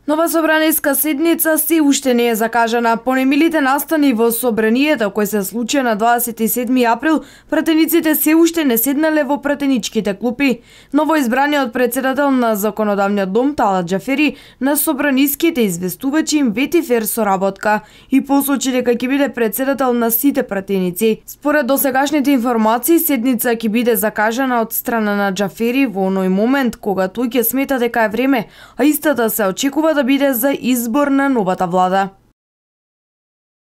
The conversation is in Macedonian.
Нова собраниска седница се уште не е закажана. По немилите настани во собранието кој се случи на 27 април, пратениците се уште не седнале во пратеничките клупи. Новоизбраниот председател на Законодавниот дом Талат Џафери на собраниските известува че им вети фер соработка и посочи дека ќе биде председател на сите пратеници. Според досегашните информации, седница ќе биде закажана од страна на Џафери во оној момент кога тој ќе смета дека е време, а истата се очекува да биде за избор на новата влада.